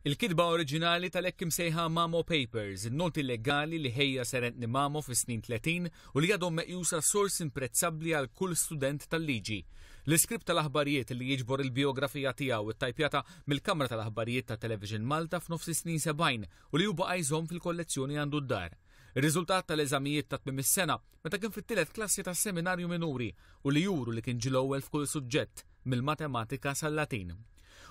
Il-kitba oriġinali tal-hekk imsejħa Mamo Papers, in-noti legali li ħejja Sir Anthony Mamo fis-snin 30 u li għadhom meqjusa sors imprezzabbli għal kull student tal-liġi. L-iskript tal-aħbarijiet li jiġbor il-bijografija tiegħu ttajpjata mill-Kamra tal-Aħbarijiet ta' Television Malta f'nofs is-snin 70 u li hu baqa' jżomm fil-kollezzjoni għandu d-dar. Ir-riżultat tal-eżamijiet ta' tmiem is-sena meta kien fit-tielet klassi tas-seminarju minuri u li juru li kien ġie l-ewwel f'kull suġġett, mill-matematika sal-Latin.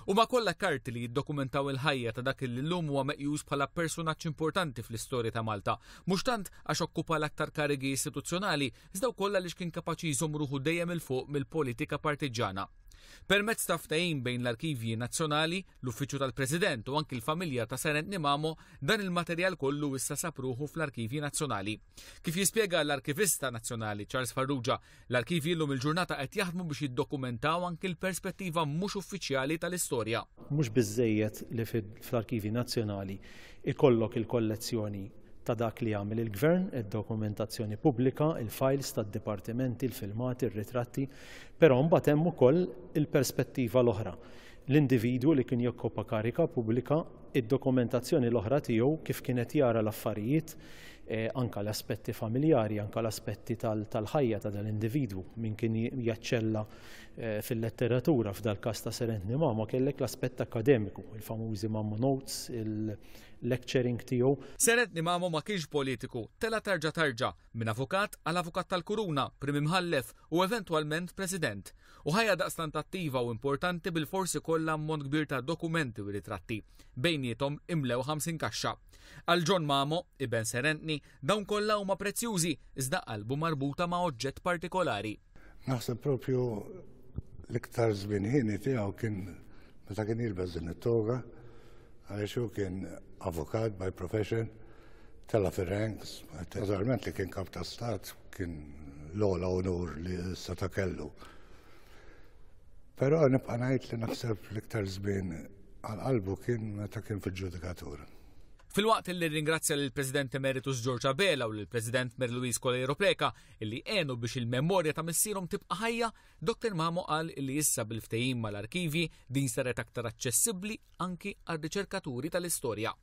Huma kollha karti li jiddokumentaw il-ħajja ta' dak li llum huwa meqjus bħala personaġġ importanti fl-istorja ta' Malta, mhux tant għax okkupa l-aktar karigi istituzzjonali, iżda wkoll għaliex kien kapaċi jżomm ruħu dejjem 'il fuq mill-politika partiġġana. Permezz ta' ftehim bejn l-Arkivji Nazzjonali, l-Uffiċċju tal-President u anki l-familja ta' Sir Anthony Mamo, dan il-materjal kollu issa sab ruħu fl-Arkivji Nazzjonali. Kif jispjega l-Arkivista Nazzjonali Charles Farrugia, L-arkivji llum il-ġurnata qed jaħdmu biex jiddokumentaw anki l-perspettiva mhux uffiċjali tal-istorja. Mhux biżżejjed li fl-Arkivji Nazzjonali ikollok il-kollezzjoni ta' dak li għamel il-Gvern, id-dokumentazzjoni pubblika, il-files tad-dipartimenti, il-filmati, ir-ritratti, però mbagħad hemm ukoll il-perspettiva l-oħra. L-individwu li kien jokkupa karika pubblika, id-dokumentazzjoni l-oħra tiegħu kif kien qed jara l-affarijiet, anke l-aspetti familjari, anke l-aspetti tal-ħajja ta' dal-individwu, min kien jaċċella fil-letteratura, f'dal-każ ta' Sir Anthony Mamo kellek l-aspett akkademiku, il-famużi Mamo Notes, il-lecturing tiegħu. Sir Anthony Mamo ma kienx politiku, tela' tarġa tarġa, minn avukat għal avukat tal-kuruna, Prim Imħallef u eventwalment President. U ħajja daqstant attiva u importanti bilfors ikollha ammont kbir ta' dokumenti u ritratti. Bejniethom imlew 50 kaxxa. Għal John Mamo, iben Sir Anthony, dawn kollha huma prezzjużi iżda qalbu marbuta ma' oġġett partikolari. Naħseb propju l-iktar żmien ħini tiegħu kien meta kien jilbes din it-toga, għaliex hu kien avukat by profession, tela' fir-ranks, naturalment li kien kap ta' stat kien l-ogħla onur li seta' kellu. Però nibqa' ngħid li naħseb l-iktar żmien għal qalbu kien meta kien fil-ġudikatura. Filwaqt li rringrazzja lill-President Emeritus George Abela u lill-President Mary Louise Coleiro Preca illi għenu biex il-memorja ta' missierhom tibqa' ħajja, Dr. Mamo qal li issa bil-ftehim mal-arkivji din saret aktar aċċessibbli anki għar-riċerkaturi tal-istorja.